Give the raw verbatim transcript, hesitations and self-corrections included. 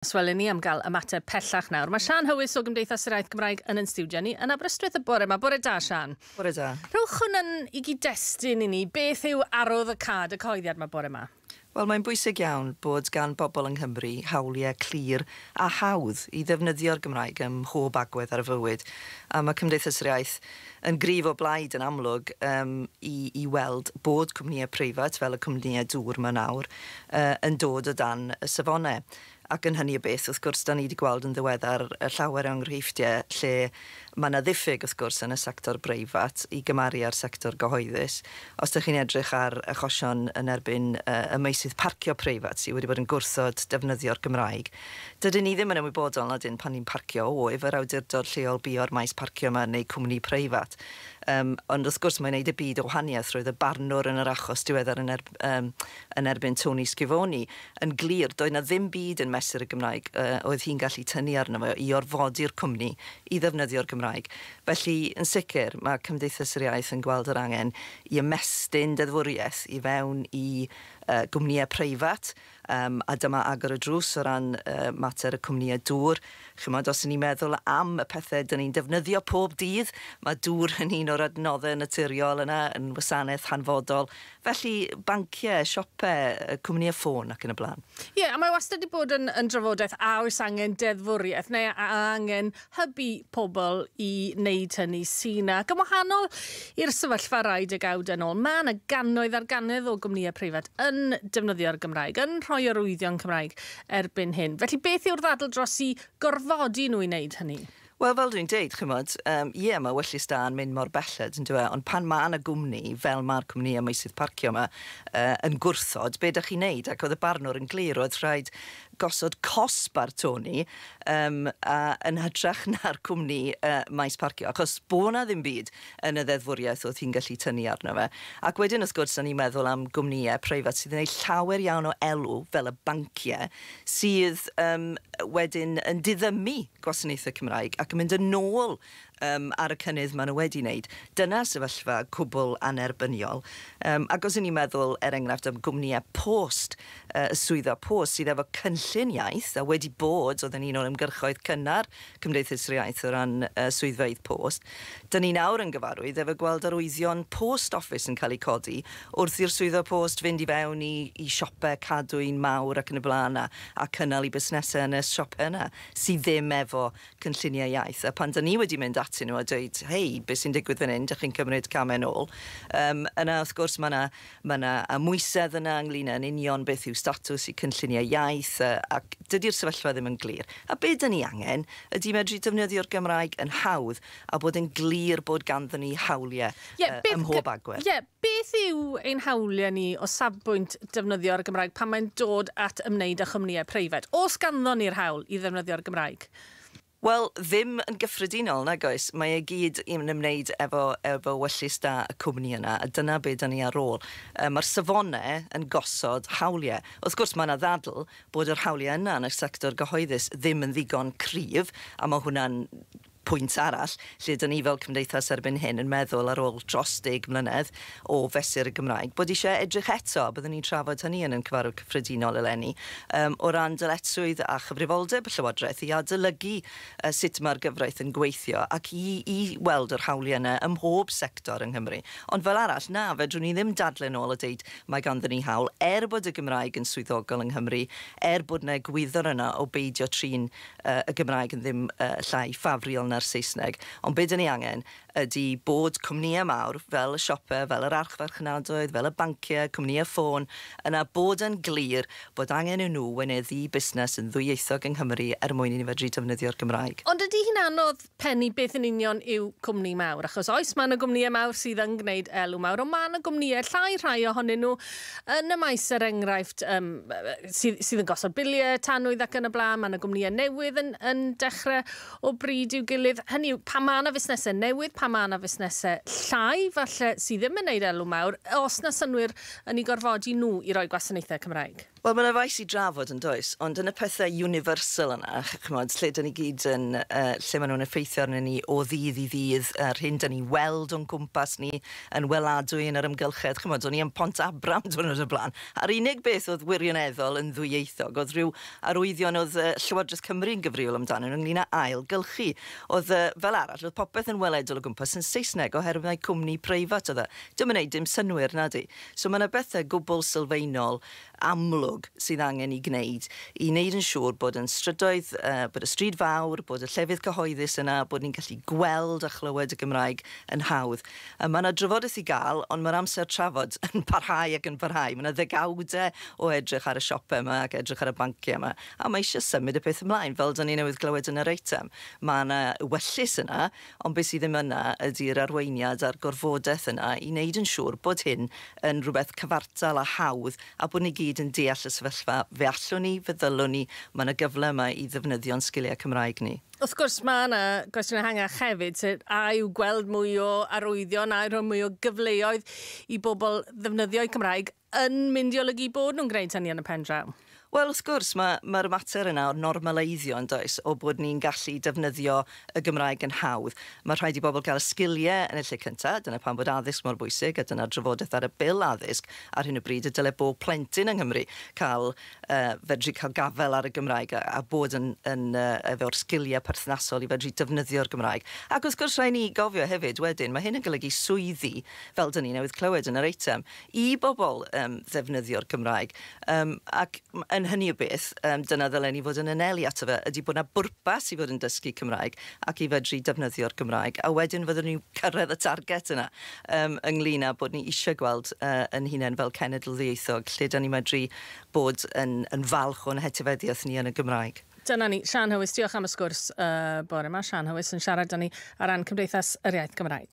Wel, ni am gael ymateb pellach nawr. Mae Sian Hywys o Gymdeithas yr Iaith Gymraeg yn yn stiwdio ni yn Aberystwyth y bore yma. Bore da, Sian. Bore da. Rhowch hwn i gyd-destun i ni. Beth yw arwydd y cad y cyhoeddiad yma bore yma? Wel, mae'n bwysig iawn bod gan bobl yng Nghymru hawliau clir a hawdd i ddefnyddio'r Gymraeg ym mhob agwedd ar y fywyd. A mae Cymdeithas yr Iaith yn gryf o blaid yn amlwg um, i, i weld bod cwmnïau preifat, fel y cwmnïau dŵr yma nawr, uh, yn dod o dan y safonau. Ac yn hynny o beth, wrth gwrs, da ni wedi gweld yn ddiweddar llawer o enghreifftiau lle mae yna ddiffyg, wrth gwrs, yn y sector breifat i gymaru â'r sector gyhoeddus. Os ydych chi'n edrych ar achosion yn erbyn uh, y meysydd parcio preifat sydd wedi bod yn gwrthod defnyddio'r Gymraeg, dydyn ni ddim yn ymwybodol na dyn pan ni'n parcio o efo'r awdurdod lleol bio'r maes parcio yma neu cwmni preifat. Um, ond wrth gwrs mae'n neud y byd o wahaniaeth. Roedd y barnwr yn yr achos diweddar yn, erb, um, yn erbyn Tony Schifoni yn glir, doedd na ddim byd yn mesur y Gymraeg uh, oedd hi'n gallu tynnu arno fo i orfodi'r cwmni i ddefnyddio'r Gymraeg. Felly, yn sicr, mae Cymdeithas yr Iaith yn gweld yr angen i ymestyn deddfwriaeth i fewn i uh, gwmnïau preifat, um, a dyma agor y drws o ran uh, mater y cwmnïau dŵr. Chymod, os ni'n meddwl am y pethau dyn ni'n defnyddio pob dydd, mae dŵr yn un o'r adnoddau naturiol yna, yn wasanaeth hanfodol. Felly, banciau, siopau, cwmnïau ffôn ac yn y blaen. Ie, yeah, a mae wastad wedi bod yn, yn drafodaeth a oes angen deddfwriaeth neu a angen hybu pobl i wneud hynny sy'n ac yn wahanol i'r sefyllfa rai degawd yn ôl. Mae yna gannoedd ar gannoedd o gwmnïau preifat yn defnyddio'r Gymraeg, yn rhoi arwyddion Cymraeg erbyn hyn. Felly beth yw'r ddadl dros i gorfodi nhw i wneud hynny? Wel, fel dwi'n deud, chymod, um, ie, mae ewyllys da yn mynd mor belled, yn dweud, ond pan mae yna gwmni, fel mae'r cwmni y meysydd parcio yma, uh, yn gwrthod, be ydych chi'n neud? Ac oedd y barnwr yn glir, oedd rhaid gosod cosb ar Tony um, a, yn hytrach na'r cwmni uh, maes parcio, achos bo' na ddim byd yn y ddeddfwriaeth oedd hi'n gallu tynnu arno fe. Ac wedyn, wrth gwrs, ni'n meddwl am gwmnïau preifat sydd yn gwneud llawer iawn o elw, fel y banciau, sydd um, wedyn yn diddymu gwasanaethau Cymraeg ac yn mynd yn ôl um, ar y cynnydd maen nhw wedi wneud. Dyna sefyllfa cwbl anerbyniol. Um, ac os ydyn ni'n meddwl, er enghraifft, am gwmnïau post, uh, y swyddfa post sydd efo cynllun iaith, a wedi bod, oedd yn un o'r ymgyrchoedd cynnar Cymdeithas yr Iaith o ran uh, swyddfeydd post, dyn ni nawr yn gyfarwydd efo gweld arwyddion post office yn cael eu codi wrth i'r swyddfa post fynd i fewn i, i siopau cadwyn mawr ac yn y blaen a, a cynnal i busnesau yn y siopau yna sydd ddim efo cynlluniau iaith. A pan dyn ni wedi mynd atyn nhw a dweud, hei, beth sy'n digwydd fan hyn, dych chi'n cymryd camau nôl. Um, yna, wrth gwrs, mae yna ma amwysedd yna ynglyn â'n union beth yw statws i cynlluniau iaith, uh, ac dydy'r sefyllfa ddim yn glir. A be dyn ni angen ydy medru defnyddio'r Gymraeg yn hawdd a bod yn glir bod ganddyn ni hawliau yeah, uh, ym mhob agwedd. Ie, yeah, beth yw ein hawliau ni o safbwynt defnyddio'r Gymraeg pan mae'n dod at ymwneud â chwmnïau preifat? Oes ganddon ni'r hawl i ddefnyddio'r Gymraeg? Wel, ddim yn gyffredinol, nag oes. Mae e gyd yn ymwneud efo, efo ewyllys da y cwmni yna, a dyna be dyn ni ar ôl. Um, Mae'r safonau yn gosod hawliau. Wrth gwrs, mae yna ddadl bod yr hawliau yna yn y sector gyhoeddus ddim yn ddigon cryf, a mae hwnna'n pwynt arall, lle dyn ni fel cymdeithas erbyn hyn yn meddwl ar ôl dros deg mlynedd o fesur y Gymraeg, bod eisiau edrych eto, byddwn ni'n trafod hynny yn yn cyfarfod cyffredinol eleni, um, o ran dyletswydd a chyfrifoldeb y Llywodraeth i adolygu uh, sut mae'r gyfraith yn gweithio ac i, i weld yr hawliau yna ym mhob sector yng Nghymru. Ond fel arall, na, fedrwn ni ddim dadlau nôl a deud mae ganddyn ni hawl, er bod y Gymraeg yn swyddogol yng Nghymru, er bod yna egwyddor yna o beidio trin uh, y Gymraeg yn ddim uh, llai ffafriol na'r Saesneg. Ond be dyn ni angen ydy bod cwmnïau mawr fel y siopau, fel yr archfarchnadoedd, fel y banciau, cwmnïau ffôn, yna bod yn glir bod angen i nhw weinyddu busnes yn ddwyieithog yng Nghymru er mwyn i ni fedru defnyddio'r Gymraeg. Ond ydy hi'n anodd pennu beth yn union yw cwmni mawr? Achos oes, mae yna gwmnïau mawr sydd yn gwneud elw mawr, ond mae yna gwmnïau llai rhai ohonyn nhw yn y maes, er enghraifft, um, sydd, sydd yn gosod biliau, tanwydd ac yn y blaen. Mae yna gwmnïau newydd yn, yn dechrau o bryd i'w gilydd. Hynny yw, pan mae yna fusnesau newydd, pan mae yna fusnesau llai, falle, sydd ddim yn gwneud elw mawr, os na synwyr yn ei gorfodi nhw i roi gwasanaethau Cymraeg? Wel, mae yna faes i drafod yn does, ond yn y pethau universal yna, chymod, lle dyn ni gyd yn, uh, lle maen nhw'n effeithio arnyn ni o ddydd i ddydd, yr hyn dyn ni weld o'n cwmpas ni yn weladwy yn yr amgylchedd, chymod, o'n i yn Pont Abram diwrnod y blaen, a'r unig beth oedd wirioneddol yn ddwyieithog, oedd rhyw arwyddion oedd uh, Llywodraeth Cymru'n gyfrifol amdano nhw ynglyn â ailgylchu. Oedd, uh, fel arall, oedd popeth yn weledol o gwmpas yn Saesneg oherwydd mai cwmni preifat oedd e. Dim yn gwneud dim synnwyr, nadi. So mae yna bethau gwbl sylfaenol amlwg sydd angen i gwneud i wneud yn siŵr bod yn strydoedd, uh, bod y stryd fawr, bod y llefydd cyhoeddus yna, bod ni'n gallu gweld a chlywed y Gymraeg yn hawdd. Uh, mae yna drafodaeth i gael, ond mae'r amser trafod yn parhau ac yn parhau. Mae yna ddegawdau o edrych ar y siopau yma ac edrych ar y banciau yma, a mae eisiau symud y peth ymlaen, fel dyn ni newydd glywed yn yr eitem. Mae yna ewyllys yna, ond beth sydd ddim yna ydy'r arweiniad a'r gorfodaeth yna i wneud yn siŵr bod hyn yn rhywbeth cyfartal a hawdd a bod ni gyd yn deall y sefyllfa. Fe allwn ni, fe ddylwn ni, mae yna gyfle yma i ddefnyddio'n sgiliau Cymraeg ni. Wrth gwrs, mae yna gwestiwn ehangach hefyd, sef a yw gweld mwy o arwyddion, a yw rhoi mwy o gyfleoedd i bobl ddefnyddio'u Cymraeg yn mynd i olygu bod nhw'n gwneud hynny yn y pen draw? Wel, wrth gwrs, mae'r ma mater yna o'r normaleiddio yn does, o bod ni'n gallu defnyddio y Gymraeg yn hawdd. Mae rhaid i bobl gael y sgiliau yn y lle cyntaf, dyna pam bod addysg mor bwysig, a dyna'r drafodaeth ar y bil addysg ar hyn o bryd, y dyle bob plentyn yng Nghymru cael, uh, fedru cael gafel ar y Gymraeg a, a bod yn, yn, uh, efo'r sgiliau perthnasol i fedru defnyddio'r Gymraeg. Ac wrth gwrs, rhaid ni gofio hefyd wedyn, mae hyn yn golygu swyddi, fel dyn ni newydd clywed yn yr eitem, i bobl um, ddefnyddio'r Gymraeg. Um, ac yn hynny o beth, um, dyna ddylen ni fod yn anelu ato fe, ydy bod yna bwrpas i fod yn dysgu Cymraeg ac i fedru defnyddio'r Gymraeg. A wedyn fyddwn ni'n cyrraedd y target yna um, ynglyn â bod ni eisiau gweld uh, yn hunain fel cenedl ddieithog, lle da ni medru bod yn, yn falch o'n hetifeddiaeth ni yn y Gymraeg. Dyna ni, Sian Howys, diolch am y sgwrs uh, bore yma. Sian Howys yn siarad â ni ar ran Cymdeithas yr Iaith Gymraeg.